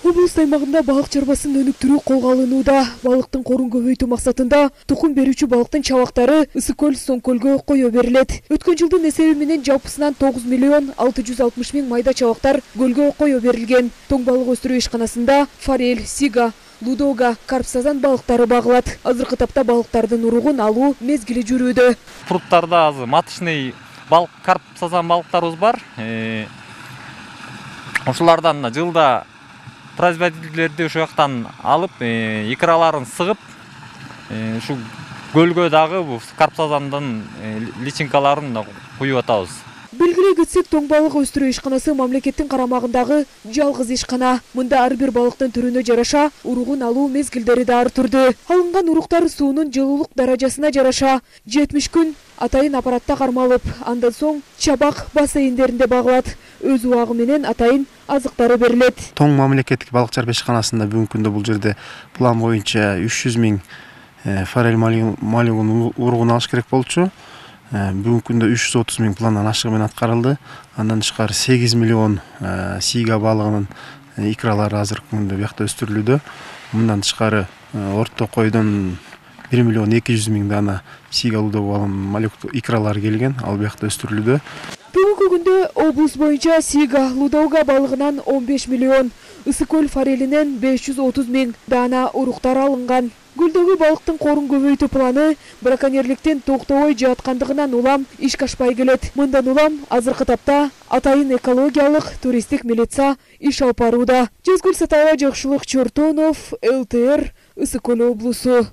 Облус аймагында балык чарбасын өнүктүрүү колго алынууда. Балыктын корун көбөйтүү максатында тукум берүүчү балыктын чабактары Ысык көл, Соң көлгө кое берилет. Өткөн жылдын эсеби менен жалпысынан 9 миллион 660 миң майда чабактар көлгө кое берилген. Тоң балык өстүрүү ишканасында форель, сига, лудога, карп, сазан балыктары багылат. Азыркы тапта балыктардын уругун алуу мезгили жүрүүдө. Пруттарда азыр маточный балык, карп, сазан балыктарыбыз бар. Ошолардан жылда производительдерди ошол жактан алып, икраларын сыгып, ушу көлгө дагы бул карп, сазандын личинкаларын куюп атабыз. Белгилей кетсек, тоң балык өстүрүү ишканасы мамлекеттин карамагындагы жалгыз ишкана. Мында ар бир балыктын түрүнө жараша уругун алуу мезгилдери да ар түрдүү. Алынган уруктар суунун жылуулук даражасына жараша 70 күн атайын аппаратта кармалып, андан соң чабак бассейндеринде багылат. Өз убагы менен атайын азыктары берилет. Тоң мамлекеттик балык чарба ишканасында бүгүнкү күндө бул жерде план боюнча 300 миң форель малюгун уругун алыш керек болчу. Бүгүнкү күндө 330 миң пландан ашыгы менен аткарылды. Андан тышкары 8 миллион сига балыгынын икралары азыркы күндө биякта өстүрүлүүдө. Мындан тышкары орто койдон 1 миллион 200 миң дана сига балыгынын малюк икралары келген, ал биякта өстүрүлүүдө. Бүгүнкү күндө облус боюнча сига, лудога балыгынан 15 миллион, Ысык көл форелинен 530 миң дана уруктар алынган. Көлдөгү балыктын корун көбөйтүү планы браконьерликтин токтобой жаткандыгынан улам ишке ашпай келет. Мындан улам азыркы тапта атайын экологиялык туристтик милиция иш алып барууда. Жезгүл Сатаева, Жакшылык Чортонов, ЛТР, Ысык көл облусу.